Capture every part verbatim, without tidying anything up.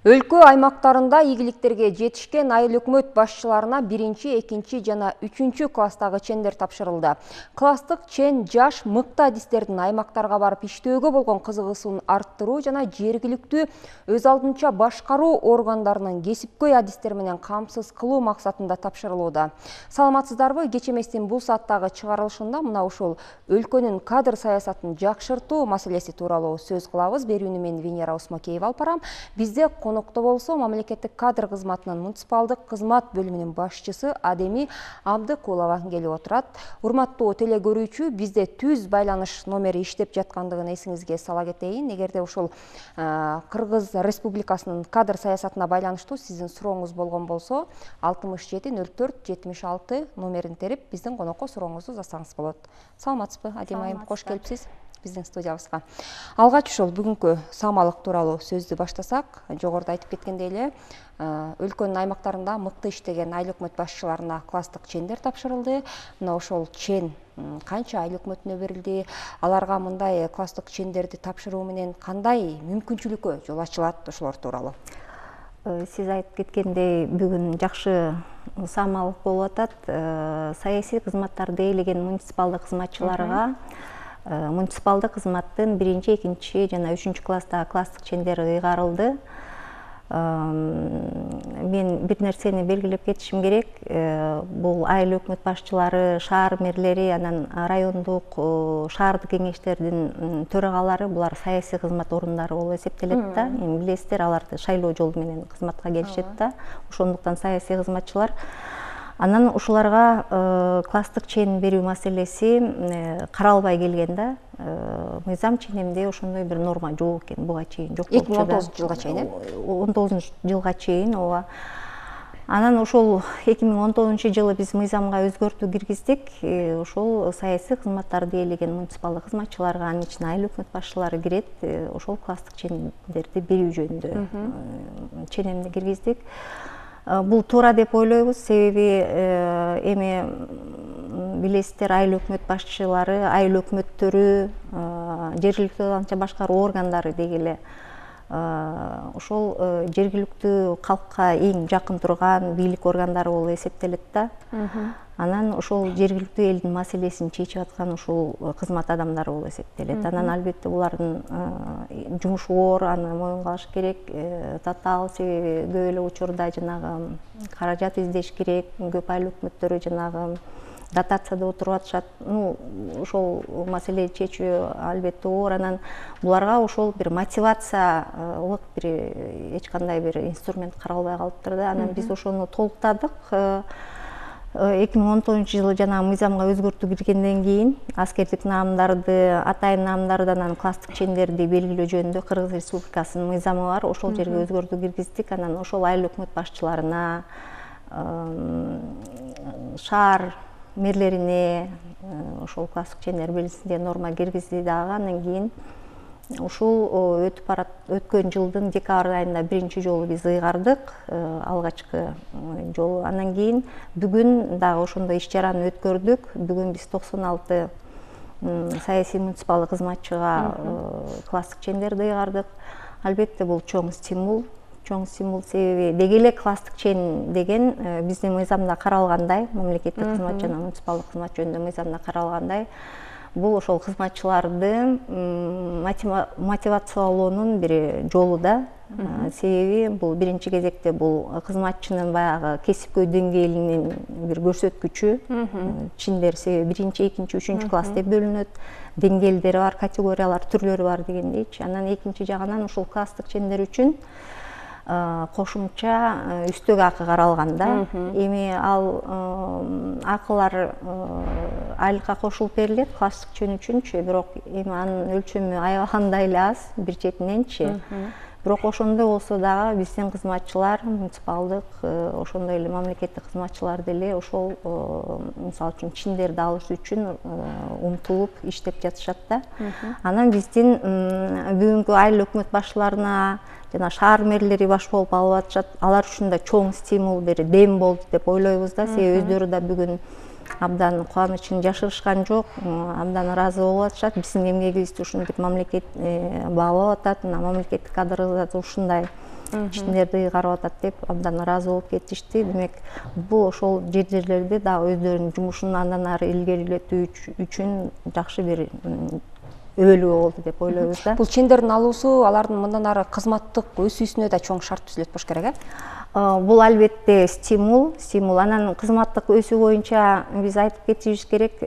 Өлкө аймактарында ийгиликтерге жетишкен айыл өкмөт башчыларына биринчи, экинчи жана үчүнчү класстагы чендер тапшырылды. Класстык чен жаш мыкты адистердин аймактарга барып иштөөгө болгон кызыгуусун арттыруу жана жергиликтүү өз алдынча башкаруу органдарынын кесипкөй адистер менен камсыз кылуу максатында тапшырылууда. Саламатсыздарбы? Кеч эместин бул сааттагы чыгарылышында мына ушул өлкөнүн кадр саясатын жакшыртуу маселеси тууралуу сөз кылабыз. Берүүнү мен Венера Усмакеева алып барам. Бизде конокто болсо мамлекеттик кадр кызматынын муниципалдык кызмат бөлүмүнүн башчысы Адеми Абдыкулова келип отурат. Урматтуу теле көрүүчү, бизде түз байланыш номери иштеп жаткандыгын эсиңизге сала кетейин. Эгерде ушул Кыргыз Республикасынын кадр саясатына байланыштуу сиздин сурооңуз болгон болсо, алтымыш жети нөл төрт жетимиш алты номерин терип биздин конокко сурооңузду жазсаңыз болот. Саламатсызбы, Адема айым? Кош келипсиз биздин студиябызга. Алгач ушул бүгүнкү самалык тууралуу сөздү баштасак, жогоруда айтып кеткендей эле, өлкөнүн аймактарында мыкты иштеген айыл өкмөт башчыларына класстык чендер тапшырылды. Мына ошол чен канча айыл өкмөтүнө берилди? Аларга мындай класстык чендерди тапшыруу менен кандай мүмкүнчүлүккө жол ачылат? Ошолор тууралуу. Сиз айтып кеткендей, бүгүн жакшы самалык болуп атат. Саясий кызматтарды ээлеген муниципалдык кызматчыларга муниципалдык кызматтын биринчи, экинчи жана үчүнчү класстагы класстык чендери ыйгарылды. Мен бир нерсени белгилеп кетишим керек. Бул айыл өкмөт башчылары, шаар мэрлери, анан райондук, шаардык кеңештердин төрагалары, булар саясий кызмат орундары болуп эсептелет да. Эми билесиздер, аларды шайлоо жолу менен кызматка келишет да. Ошондуктан саясий кызматчылар. Анан ушуларга класстык чен берүү маселеси каралбай келген да. Мыйзам ченемде ошондой бир норма жок экен буга чейин. Жок эки миң он тогузунчу жылга чейин, э? он тогузунчу жылга чейин, ооба. Анан ошол эки миң он тогузунчу жылы биз мыйзамга өзгөртүү киргиздик. Ошол саясий кызматтарды ээлеген муниципалдык кызматчыларга, анын ичине айыл өкмөт башчылары кирет. Ошол класстык чендерди берүү жөнүндө ченемди киргиздик. Бул туура деп ойлойбуз, себеби эми билесиздер, айыл өкмөт башчылары, айыл өкмөттөрү, жергиликтүү анча башкаруу органдары дегеле ошол жергиликтүү калкка эң жакын турган бийлик органдары болуп эсептелет да. Анан ошол жергиликтүү элдин маселесин чечип аткан ушул кызмат адамдары болуп эсептелет. Анан албетте булардын жумушу оор, аны моюнга алыш керек. Татаал, себеби көп эле учурда жанагы каражат издеш керек, көп айыл өкмөттөрү жанагы дотацияда отуруп атышат. Ну, ошол маселени чечүү албетте оор. Анан буларга ошол бир мотивациялык бир эч кандай бир инструмент каралбай калыптыр да. Анан биз ошону толуктадык. эки миң он тогузунчу жылы жана мыйзамга өзгөртүү киргенден кийин аскердик наамдарды, атайын наамдарды, анан класстык чендерди белгилөө жөнүндө Кыргыз Республикасынын мыйзамы бар. Ошол жерге өзгөртүү киргиздик. Анан ошол айыл өкмөт башчыларына, шаар мэрлерине ошол класстык чендер берилсин деген норма киргизди дагы. Андан кийин ушул өтүп барат өткөн жылдын декабрь айында биринчи жолу биз ыйгардык, алгачкы жолу. Андан кийин бүгүн дагы ошондой иш чараны өткөрдүк. Бүгүн биз токсон алты саясий муниципалдык кызматчыга класстык чендерди ыйгардык. Албетте бул чоң стимул, чоң стимул, себеби деги эле класстык чен деген биздин мыйзамда каралгандай, мамлекеттик кызмат жана муниципалдык кызмат жөнүндө мыйзамда каралгандай, бул ошол кызматчыларды мотивациялоонун бир жолу да. Себеби бул биринчи кезекте бул кызматчынын баягы кесипкөй деңгээлинин бир көрсөткүчү. Чендер себеби биринчи, экинчи, үчүнчү класс деп бөлүнөт. Деңгээлдери бар, категориялар, түрлөрү бар дегендейчи. Анан экинчи жагынан ушул класстык чендер үчүн кошумча үстөк акы каралган да. Эми ал акылар айлыкка кошулуп берилет класстык чен үчүнчү, бирок эми анын өлчөмү аябагандай эле аз бир четиненчи. Бирок ошондой болсо дагы биздин кызматчылар, муниципалдык, ошондой эле мамлекеттик кызматчылар деле ошол мисалы үчүн чендерди алыш үчүн умтулуп иштеп жатышат да. Анан биздин бүгүнкү айыл өкмөт башчыларына жана шаар мэрлери баш болуп алып атышат. Алар үчүн да чоң стимул, бир дем болду деп ойлойбуз да. Себеби өздөрү да бүгүн абдан кубанычын жашырышкан жок, абдан ыраазы болуп атышат. Биздин эмгегибизди ушинтип мамлекет баалап атат. Мына мамлекеттик кадр ушундай иштерди ыйгарып атат деп абдан ыраазы болуп кетишти. Демек бул ошол жерлерди дагы өздөрүнүн жумушун андан ары илгерилетүү үчүн жакшы бир өбөлгө болду деп ойлойбуз да. Бул чендердин алуусу алардын мындан ары кызматтык өсүүсүнө да чоң шарт түзүлөт болуш керек, э? Бул албетте стимул, стимул. Анан кызматтык өсүү боюнча биз айтып кетишибиз керек.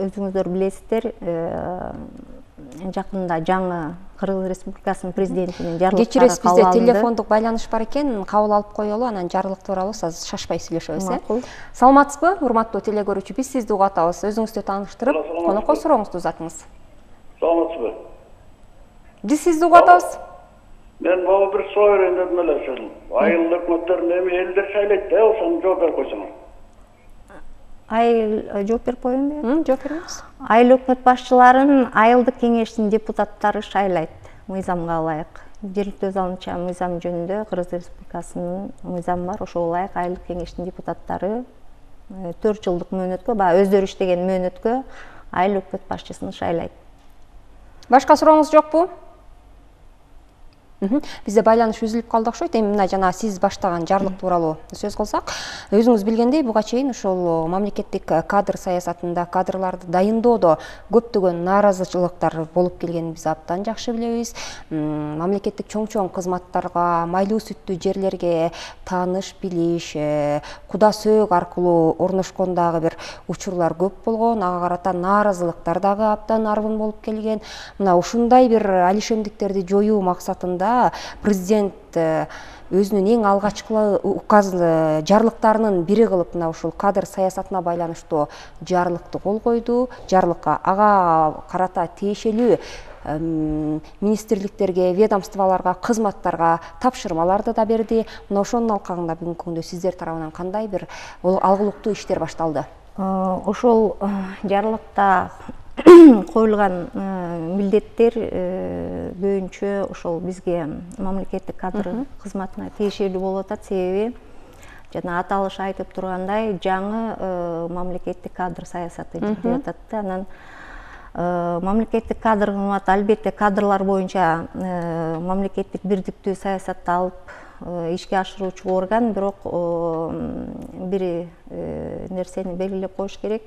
Өзүңүздөр билесиздер, жакында жаңы Кыргыз Республикасынын президентинин жарлыктары кечиресиз, бизде кабыл алынды. телефондук байланыш бар экен, кабыл алып коелу, анан жарлык тууралуу азыр шашпай сүйлөшөбүз, э? Макул. Саламатсызбы, урматтуу теле көрүүчү? Биз сизди угуп атабыз. Өзүңүздү тааныштырып, конокко сурооңузду узатыңыз. Саламатсызбы? Биз сизди угуп атабыз. Мен могу бир суроо берейин дедим эле ошол. Айыл өкмөттөрүн эми элдер шайлайт да, ошону жооп берип койсоңуз. Айыл жооп берип коеюнбу? Жооп бериңиз. Айыл өкмөт башчыларын айылдык кеңештин депутаттары шайлайт мыйзамга ылайык. Жергиликтүү өз алынча мыйзам жөнүндө Кыргыз Республикасынын мыйзамы бар. Ошого ылайык айылдык кеңештин депутаттары төрт жылдык мөөнөткө, баягы өздөрү иштеген мөөнөткө айыл өкмөт башчысын шайлайт. Башка сурооңуз жокпу? Бизде байланыш үзүлүп калды окшойт. Эми мына жана сиз баштаган жарлык тууралуу сөз кылсак, өзүңүз билгендей, буга чейин ушул мамлекеттик кадр саясатында, кадрларды дайындоодо көптөгөн нааразычылыктар болуп келгенин биз абдан жакшы билебиз. Мамлекеттик чоң-чоң кызматтарга, майлуу сүттүү жерлерге тааныш билиш, куда сөөгү аркылуу орношкон дагы бир учурлар көп болгон, ага карата нааразылыктар дагы абдан арбын болуп келген. Мына ушундай бир алишемдиктерди жоюу максатында президент өзүнүн эң алгачкы указ жарлыктарынын бири кылып мына ушул кадр саясатына байланыштуу жарлыкты кол койду. Жарлыкка ага карата тиешелүү министрликтерге, ведомстволорго, кызматтарга тапшырмаларды да берди. Мына ошонун алкагында бүгүнкү күндө сиздер тарабынан кандай бир алгылыктуу иштер башталды? Ошол жарлыкта коюлган милдеттер көбүнчө ошол бизге мамлекеттик кадр кызматына тиешелүү болуп атат. Себеби жана аталыш айтып тургандай, жаңы мамлекеттик кадр саясаты деп атат да. Анан мамлекеттик кадр кызматы албетте кадрлар боюнча мамлекеттик бирдиктүү саясатты алып ишке ашыруучу орган, бирок бир нерсени белгилеп коюш керек.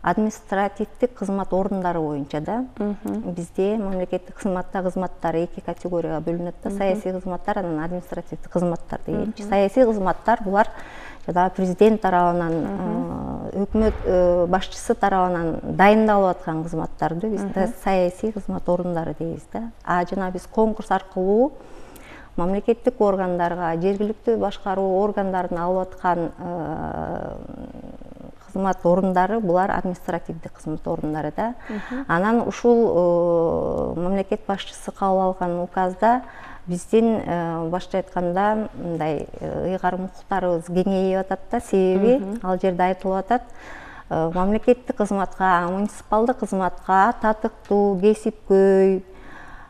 Административдик кызмат орындары боюнча да бизде мамлекеттик кызматта кызматтар эки категорияга бөлүнөт да. Саясий кызматтар, анан административдик кызматтар дегенчи. Саясий кызматтар булар жана президент тарабынан, өкмөт башчысы тарабынан дайындалып аткан кызматтарды биз саясий кызмат орындары дейбиз да. А жана биз конкурс аркылуу мамлекеттик органдарга, жергиликтүү башкаруу органдарына алып аткан кызмат орындары, булар административдик кызмат орындары да. Анан ушул мамлекет башчысы кабыл алган указда биздин башка айтканда мындай ыйгарым укуктарыбыз кеңейип атат да. Себеби ал жерде айтылып атат, мамлекеттик кызматка, муниципалдык кызматка татыктуу, кесипкөй,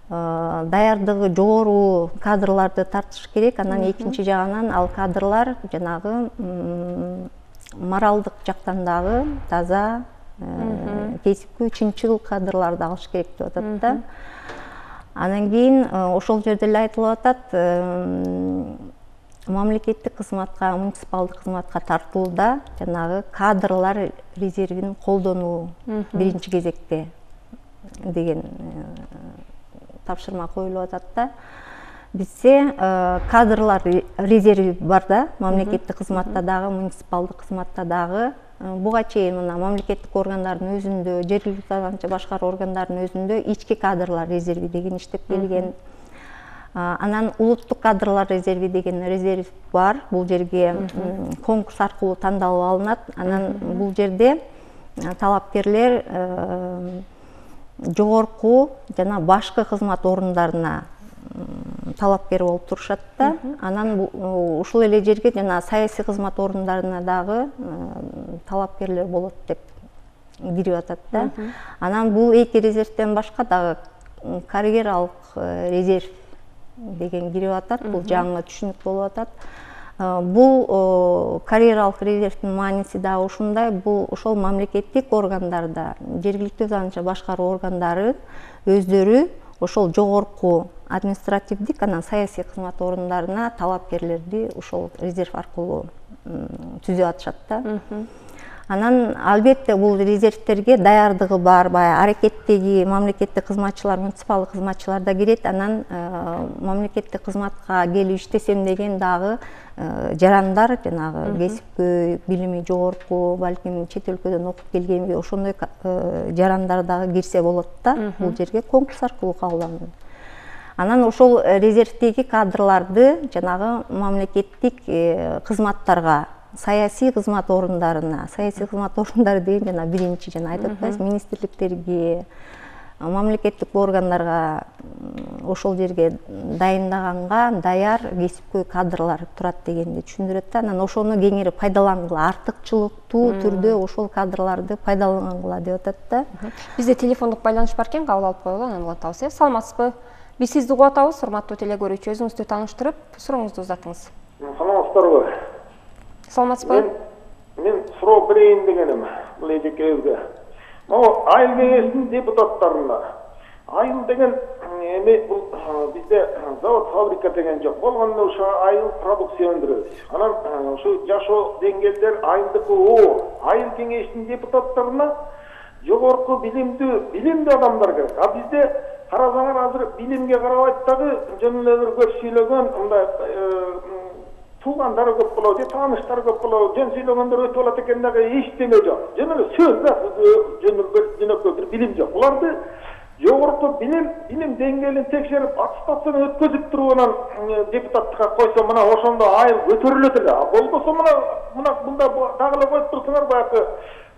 даярдыгы жогору кадрларды тартыш керек. Анан экинчи жагынан ал кадрлар жанагы моралдык жактан дагы таза, кесипкөй, чынчыл кадрларды алыш керек деп атат да. Анан кийин ошол жерде эле айтылып атат, мамлекеттик кызматка, муниципалдык кызматка тартууда жанагы кадрлар резервин колдонуу биринчи кезекте деген тапшырма коюлуп атат да. Бизде кадрлар резерви бар да, мамлекеттик кызматта дагы, муниципалдык кызматта дагы. Буга чейин мына мамлекеттик органдардын өзүндө, жергиликтүү башкаруу органдарынын өзүндө ички кадрлар резерви деген иштеп келген. Анан улуттук кадрлар резерви деген резерв бар. Бул жерге конкурс аркылуу тандалып алынат. Анан бул жерде талапкерлер жогорку жана башкы кызмат орундарына талапкер болуп турушат да. Анан ушул эле жерге жана саясий кызмат орундарына дагы талапкерлер болот деп кирип атат да. Анан бул эки резервден башка дагы карьералык резерв деген кирип атат. Бул жаңы түшүнүк болуп атат. Бул карьералык резервдин мааниси дагы ушундай. Бул ошол мамлекеттик органдарда, жергиликтүү занча башкаруу органдары өздөрү ошол жогорку административдик анан саясий кызмат орундарына талапкерлерди ошол резерв аркылуу түзүп атышат да. Анан албетте бул резервтерге даярдыгы бар, баягы аракеттеги мамлекеттик кызматчылар, муниципалдык кызматчылар да кирет. Анан мамлекеттик кызматка келип иштесем деген дагы жарандар, жанагы кесипкөй, билими жогорку, балким чет өлкөдөн окуп келгенби, ошондой жарандар дагы кирсе болот да, бул жерге конкурс аркылуу кабылданат. Анан ошол резервдеги кадрларды жанагы мамлекеттик кызматтарга, саясий кызмат орундарына, саясий кызмат орундары деген жана биринчи жана айтып атпайсызбы, министрликтерге, мамлекеттик органдарга ошол жерге дайындаганга даяр кесипкөй кадрлар турат дегенди түшүндүрөт да. Анан ошону кеңири пайдалангыла, артыкчылыктуу түрдө ошол кадрларды пайдалангыла деп атат да. Бизде телефондук байланыш бар экен, кабыл алып коелу, анан улантабыз. Э, саламатсызбы? Биз сизди угуп атабыз, урматтуу телегөрүүчү. Өзүңүздү тааныштырып, сурооңузду узатыңыз. Саламатсыздарбы? Саламатсызбы? Мен суроо берейин дегеним бул эжекебизге. Могу айыл кеңешинин депутаттарына айыл деген эми бул бизде завод, фабрика деген жок. Болгондо ошо айыл продукция өндүрөбүз. Анан ушу жашоо деңгээлдер айылдыкы оор. Айыл кеңешинин депутаттарына жогорку билимдүү, билимдүү адамдар керек. А бизде карасаңар азыр билимге карабайт дагы жөн эле бир көп сүйлөгөн мындай туугандары көп болот, тааныштары көп болот, жөн сүйлөгөндөр өтүп алат экен дагы эчтеме жок. Жөн эле сөз да, жөнөкөй бир билим жок. Буларды жогорку билим, билим деңгээлин текшерип, аттестацион өткөзүп туруп анан депутаттыкка койсо, мына ошондо айыл көтөрүлөт эле. А болбосо мына мына мында дагы эле коюп турсаңар, баягы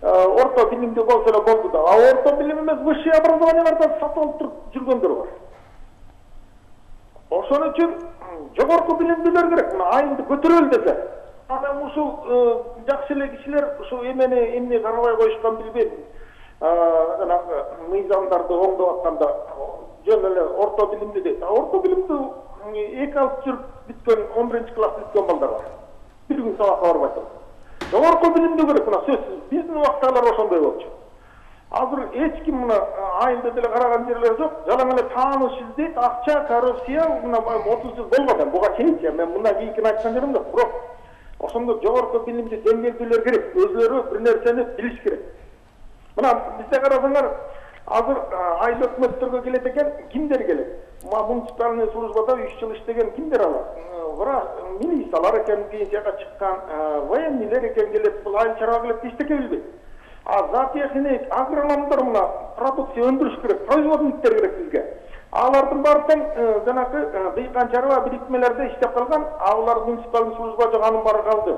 орто билимдүү болсо эле болду да. А орто билим эмес, высшее образованиялардан сатып алып туруп жүргөндөр бар. Ошон үчүн жогорку билимдүүлөр керек. Мына айылды көтөрөлү десе. Анан ушул жакшы эле кишилер ушул эмени эмне карабай коюшкан билбейм. Жанагы мыйзамдарды оңдоп атканда жөн эле орто билимдүү дейт. А орто билимдүү эки алып жүрүп бүткөн он биринчи класс бүткөн балдар бар. Бир күн сабакка барбай туруп. Жогорку билимдүү керек, мына сөзсүз. Биздин убактагылар ошондой болчу. Азыр эч ким мына айылда деле караган жерлер жок. Жалаң эле тааныш издейт, акча, коррупция, мына отуз жыл болгон. Буга чейинчи мен мындан кийинкини айткан жерим жок. Бирок ошондо жогорку билимдүү деңгээлдүүлөр керек. Өзлөрү бир нерсени билиш керек. Мына бизде карасаңар, азыр айыл өкмөттөргө келет экен, кимдер келет? Муниципальный службада үч жыл иштеген кимдер алар? Бара милициялар экен, пенсияга чыккан, военныйлер экен келет, бул айыл чарба келет, эчтеке билбейт. А зоотехник, агрономдор мына продукция өндүрүш керек, производниктер керек бизге. Алардын баардыгы жанагы дыйкан чарба бириктимелерде иштеп калган, алар муниципальный служба жок, анын баары калды.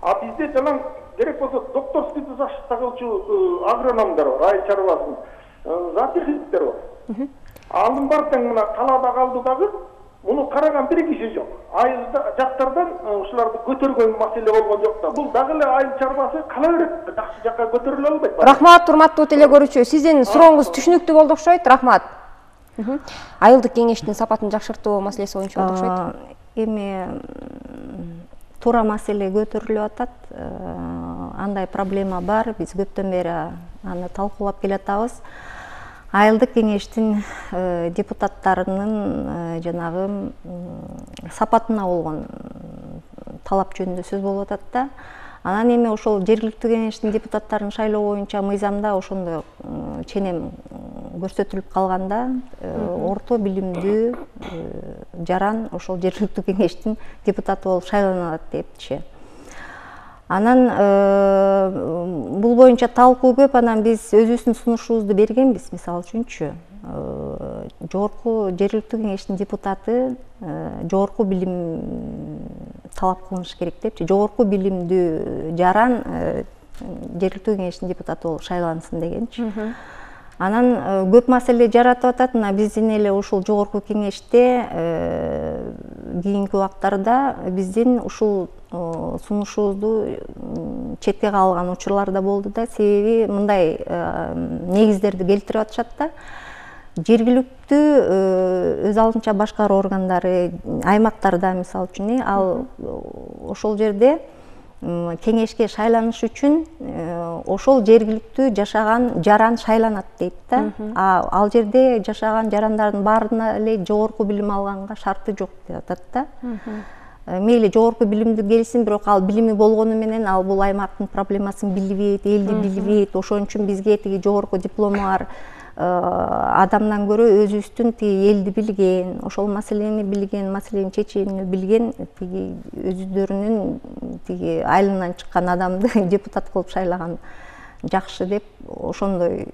А бизде жалаң керек болсо докторский защита кылчу агрономдор бар, айыл чарбасын, зоотехниктер бар. Анын баардыгы мына талаада калды дагы. Муну караган бир киши жок. Айылда жактардан ушуларды көтөргөн маселе болгон жок да. Бул дагы эле айыл чарбасы кала берет. Жакшы жакка көтөрүлө албайт. Рахмат, урматтуу телегөрүүчү. Сиздин сурооңуз түшүнүктүү болду окшойт. Рахмат. Айылдык кеңештин сапатын жакшыртуу маселеси боюнча болду окшойт. Эми туура маселе көтөрүлүп атат. Андай проблема бар. Биз көптөн бери аны талкуулап келатабыз. Айылдык кеңештин депутаттарынын жанагы сапатына болгон талап жөнүндө сөз болуп атат да. Анан эми ошол жергиликтүү кеңештин депутаттарын шайлоо боюнча мыйзамда ошондой ченем көрсөтүлүп калганда, орто билимдүү жаран ошол жергиликтүү кеңештин депутаты болуп шайланат депчи. Анан бул боюнча талкуу көп, анан биз өзүбүздүн сунушубузду бергенбиз. Мисалы үчүнчү, жогорку жергиликтүү кеңештин депутаты жогорку билим талап кылыныш керек депчи. Жогорку билимдүү жаран жергиликтүү кеңештин депутаты болуп шайлансын дегенчи. Анан көп маселе жаратып атат. Мына биздин эле ушул жогорку кеңеште кийинки убактарда биздин ушул сунушубузду четке калган учурлар да болду да. Себеби мындай негиздерди келтирип атышат да. Жергиликтүү өз алдынча башкаруу органдары аймактарда, мисалы үчүн, ал ошол жерде кеңешке шайланыш үчүн ошол жергиликтүү жашаган жаран шайланат дейт да. Ал жерде жашаган жарандардын баарына эле жогорку билим алганга шарты жок деп атат да. Мейли жогорку билимдүү келсин, бирок ал билими болгону менен ал бул аймактын проблемасын билбейт, элди билбейт. Ошон үчүн бизге тиги жогорку диплому бар адамдан көрө өзүбүздүн тиги элди билген, ошол маселени билген, маселени чечүүнү билген тиги өзүлөрүнүн тиги айылынан чыккан адамды депутат кылып шайлаган жакшы деп ошондой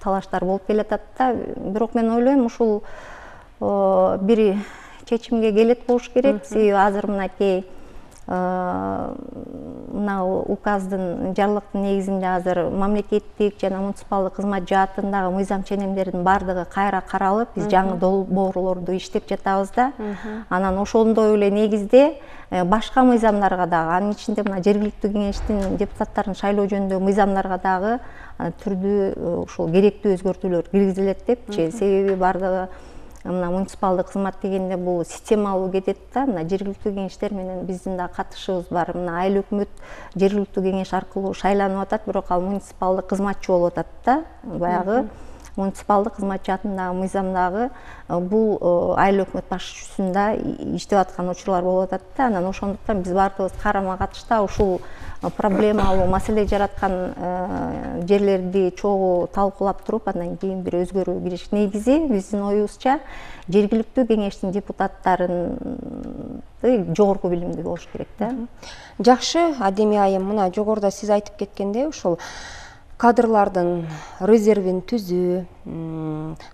талаштар болуп келатат да. Бирок мен ойлойм ушул бир чечимге келет болуш керек. Себеби азыр мынакей мына указдын жарлыктын негизинде азыр мамлекеттик жана муниципалдык кызмат жаатындагы мыйзам ченемдердин баардыгы кайра каралып, биз жаңы долбоорлорду иштеп жатабыз да. Анан ошондой эле негизде башка мыйзамдарга дагы, анын ичинде мына жергиликтүү кеңештин депутаттарын шайлоо жөнүндөгү мыйзамдарга дагы түрдүү ушул керектүү өзгөртүүлөр киргизилет депчи. Себеби баардыгы мына муниципалдык кызмат дегенде бул системалуу кетет да. Мына жергиликтүү кеңештер менен биздин да катышыбыз бар. Мына айыл өкмөт жергиликтүү кеңеш аркылуу шайланып атат, бирок ал муниципалдык кызматчы болуп атат да. Баягы муниципалдык кызмат жаатындагы мыйзамдагы бул айыл өкмөт башчысында иштеп аткан учурлар болуп атат да. Анан ошондуктан биз баардыгыбыз карама катышта ушул проблемалуу маселе жараткан жерлерди чогуу талкуулап туруп, андан кийин бир өзгөрүү кириш. Негизи биздин оюбузча жергиликтүү кеңештин депутаттарын жогорку билимдүү болуш керек да. Жакшы, Адемия айым, мына жогоруда сиз айтып кеткендей, ушул кадрлардын резервин түзүү,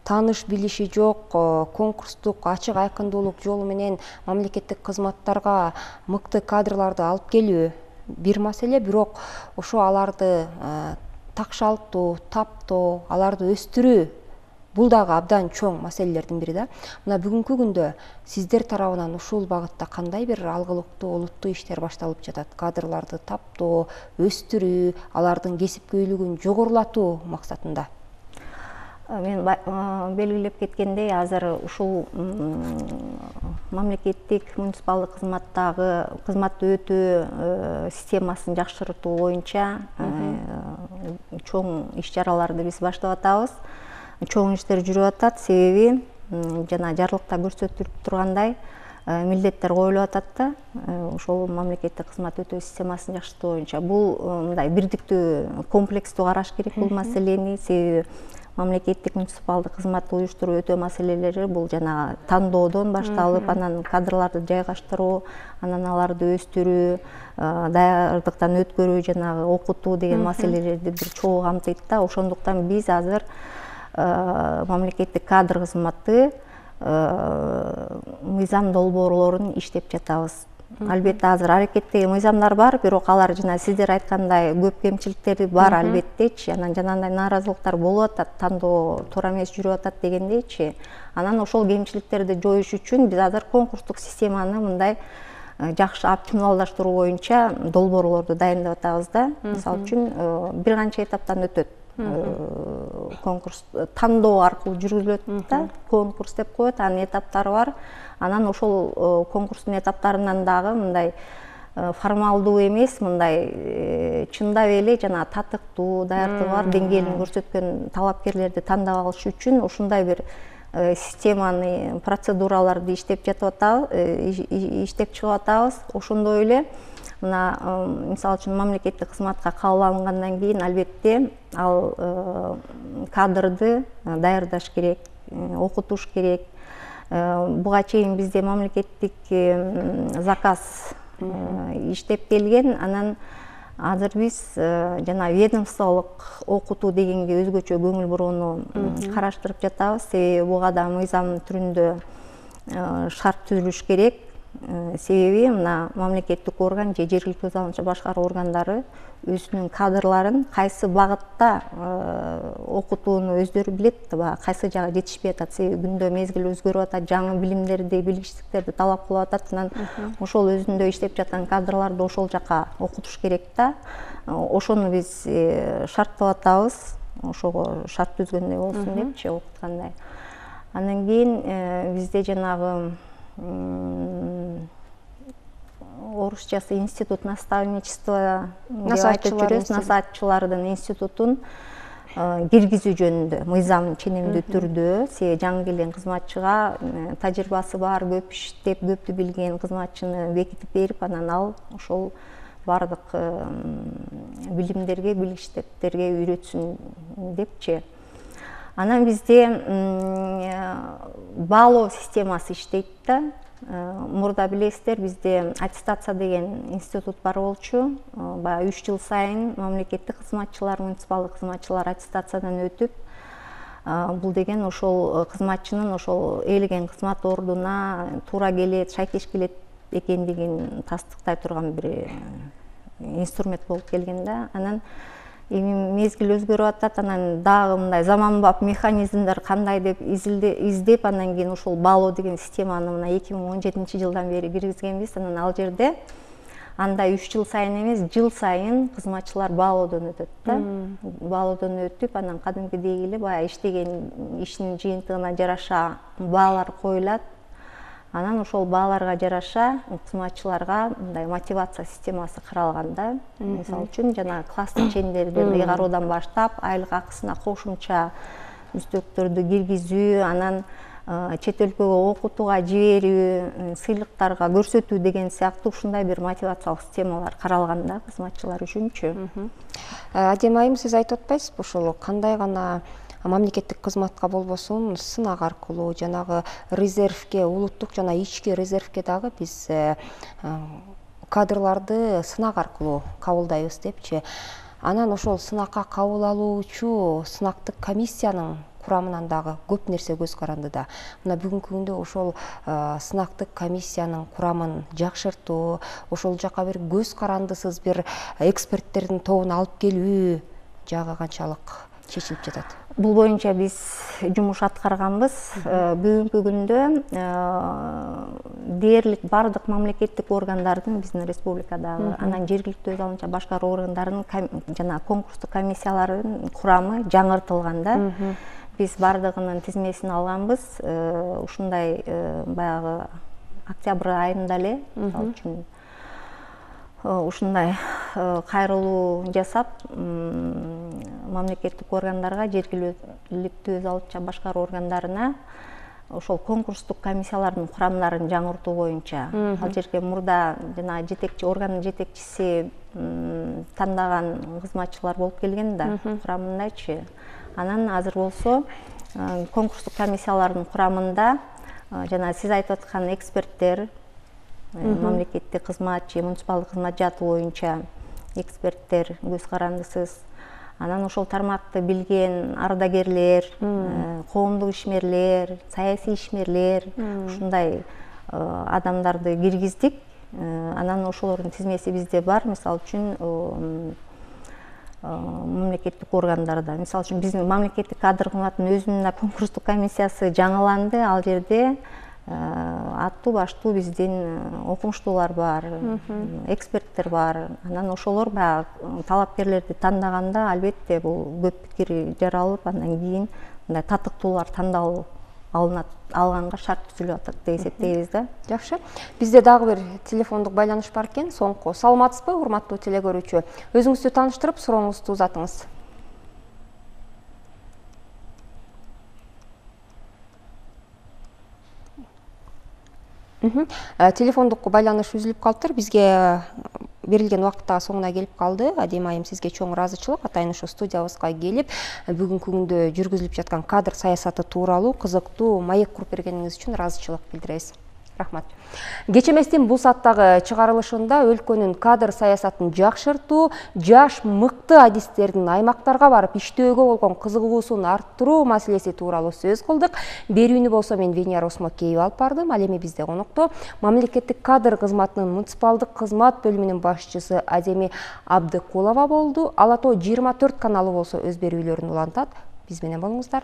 тааныш билиши жок, конкурстук ачык айкындуулук жолу менен мамлекеттик кызматтарга мыкты кадрларды алып келүү бир маселе, бирок ошо аларды такшалтуу, таптоо, аларды өстүрүү бул дагы абдан чоң маселелердин бири да. Мына бүгүнкү күндө сиздер тарабынан ушул багытта кандай бир алгылыктуу, олуттуу иштер башталып жатат? Кадрларды таптоо, өстүрүү, алардын кесипкөйлүгүн жогорулатуу максатында. Мен белгилеп кеткендей, азыр ушул мамлекеттик муниципалдык кызматтагы кызматты өтөө системасын жакшыртуу боюнча чоң иш-чараларды биз баштап атабыз. Чоң иштер жүрүп атат, себеби жана жарлыкта көрсөтүлүп тургандай милдеттер коюлуп атат да. Ошол мамлекеттик кызмат өтөө системасын жакшыртуу боюнча бул мындай бирдиктүү, комплекстүү караш керек бул маселени. Себеби мамлекеттик муниципалдык кызматты уюштуруу өтөө маселелери бул жана тандоодон башталып, анан кадрларды жайгаштыруу, анан аларды өстүрүү, даярдыктан өткөрүү, жанагы окутуу деген маселелерди бир чогуу камтыйт да. Ошондуктан биз азыр мамлекеттик кадр кызматы мыйзам долбоорлорун иштеп жатабыз. Албетте азыр аракеттеги мыйзамдар бар, бирок алар жана сиздер айткандай көп кемчиликтери бар албеттечи. Анан жанагындай нааразылыктар болуп атат, тандоо туура эмес жүрүп атат дегендейчи. Анан ошол кемчиликтерди жоюш үчүн биз азыр конкурстук системаны мындай жакшы оптималдаштыруу боюнча долбоорлорду дайындап атабыз да. Мисалы үчүн бир канча этаптан өтөт. Конкурс тандоо аркылуу жүргүзүлөт да. Конкурс деп коет, анын этаптары бар. Анан ошол конкурстун этаптарынан дагы мындай формалдуу эмес, мындай чындап эле жана татыктуу, даярдыгы бар деңгээлин көрсөткөн талапкерлерди тандап алыш үчүн ушундай бир системаны, процедураларды иштеп жатып атабыз, иштеп чыгып атабыз. Ошондой эле мына мисалы үчүн мамлекеттик кызматка кабыл алынгандан кийин албетте ал кадрды даярдаш керек, окутуш керек. Буга чейин бизде мамлекеттик заказ иштеп келген, анан азыр биз жана ведомстволук окутуу дегенге өзгөчө көңүл бурууну караштырып жатабыз. Себеби буга да мыйзам түрүндө шарт түзүлүш керек. Себеби мына мамлекеттик орган же жергиликтүү өз алгычы башкаруу органдары өзүнүн кадрларын кайсы багытта окутууну өздөрү билет, кайсы жагы жетишпей атат. Себеби күндө мезгил өзгөрүп атат, жаңы билимдерди, билгичтиктерди талап кылып атат. Анан ошол өзүндө иштеп жаткан кадрларды ошол жака окутуш керек да. Ошону биз шарттап атабыз, ошого шарт түзгөндөй болсун депчи, окуткандай. Андан кийин бизде жанагы орусчасы институт наставничества деп айтып жүрөбүз, насаатчылардын институтун киргизүү жөнүндө мыйзам ченемдүү түрдө себеби жаңы келген кызматчыга тажрыйбасы бар, көп иштеп, көптү билген кызматчыны бекитип берип, анан ал ошол баардык билимдерге, билгичтерге үйрөтсүн депчи. Анан бизде баалоо системасы иштейт да. Мурда билесиздер, бизде аттестация деген институт бар болчу. Баягы үч жыл сайын мамлекеттик кызматчылар, муниципалдык кызматчылар аттестациядан өтүп, бул деген ошол кызматчынын ошол ээлеген кызмат ордуна туура келет, шайкеш келет экендигин тастыктай турган бир инструмент болуп келген да. Анан эми мезгил өзгөрүп атат, анан дагы мындай заманбап механизмдер кандай деп издеп, анан кийин ошол баалоо деген системаны мына эки миң он жетинчи жылдан бери киргизгенбиз. Анан ал жерде андай үч жыл сайын эмес, жыл сайын кызматчылар баалоодон өтөт да. Баалоодон өтүп, анан кадимкидей эле баягы иштеген ишинин жыйынтыгына жараша баалар коюлат. Анан ошол бааларга жараша кызматчыларга мындай мотивация системасы каралган да. Мисалы үчүн жана класстык чендерден ыйгаруудан баштап айлык акысына кошумча үстөктөрдү киргизүү, анан чет өлкөгө окутууга жиберүү, сыйлыктарга көрсөтүү деген сыяктуу ушундай бир мотивациялык системалар каралган да кызматчылар үчүнчү. Адем айым, сиз айтып атпайсызбы ошол кандай гана мамлекеттик кызматка болбосун сынак аркылуу жанагы резервге, улуттук жана ички резервге дагы биз кадрларды сынак аркылуу кабылдайбыз депчи. Анан ошол сынакка кабыл алуучу сынактык комиссиянын курамынан дагы көп нерсе көз каранды да. Мына бүгүнкү күндө ошол сынактык комиссиянын курамын жакшыртуу, ошол жака бир көз карандысыз бир эксперттердин тобун алып келүү жагы канчалык чечилип жатат? Бул боюнча биз жумуш аткарганбыз. Бүгүнкү күндө дээрлик бардык мамлекеттик органдардын, биздин республикадагы, анан жергиликтүү өз алынча башкаруу органдарынын жана конкурстук комиссияларынын курамы жаңыртылган да. Биз бардыгынын тизмесин алганбыз. Ушундай баягы октябрь айында эле, мисалы үчүн ушундай кайрылуу жасап, мамлекеттик органдарга, жергиликтүү өз алынча башкаруу органдарына ошол конкурстук комиссиялардын курамдарын жаңыртуу боюнча, ал жерге мурда жана жетекчи органдын жетекчиси тандаган кызматчылар болуп келген да, курамындачы. Анан азыр болсо конкурстук комиссиялардын курамында жана сиз айтып аткан эксперттер, мамлекеттик кызмат же муниципалдык кызмат жааты боюнча эксперттер, көз карандысыз, анан ошол тармакты билген ардагерлер, коомдук ишмерлер, саясий ишмерлер, ушундай адамдарды киргиздик. Анан ошолордун тизмеси бизде бар. Мисалы үчүн мамлекеттик органдарда, мисалы үчүн биздин мамлекеттик кадр кызматынын өзүнүн конкурстук комиссиясы жаңыланды. Ал жерде аттуу баштуу биздин окумуштуулар бар, эксперттер бар. Анан ошолор баягы талапкерлерди тандаганда албетте бул көп пикир жаралып, андан кийин мындай татыктуулар тандалып алынат, алганга шарт түзүлүп атат деп эсептейбиз да. Жакшы. Бизде дагы бир телефондук байланыш бар экен. Соңку. Саламатсызбы, урматтуу телекөрүүчү? Өзүңүздү тааныштырып, сурооңузду узатыңыз. Телефондук байланыш үзүлүп калыптыр. Бизге берилген убакыттагы соңуна келип калды. Адем айым, сизге чоң ыраазычылык. Атайын ушу студиябызга келип, бүгүнкү күндө жүргүзүлүп жаткан кадр саясаты тууралуу кызыктуу маек куруп бергениңиз үчүн ыраазычылык билдиребиз. Рахмат. Кечеместин бул сааттагы чыгарылышында өлкөнүн кадр саясатын жакшыртуу, жаш мыкты адистердин аймактарга барып иштөөгө болгон кызыгуусун арттыруу маселеси тууралуу сөз кылдык. Берүүнү болсо мен Венера Осмокеева алып бардым. Ал эми бизде конокто мамлекеттик кадр кызматынын муниципалдык кызмат бөлүмүнүн башчысы Адеми Абдыкулова болду. Ала Тоо жыйырма төрт каналы болсо өз берүүлөрүн улантат. Биз менен болуңуздар.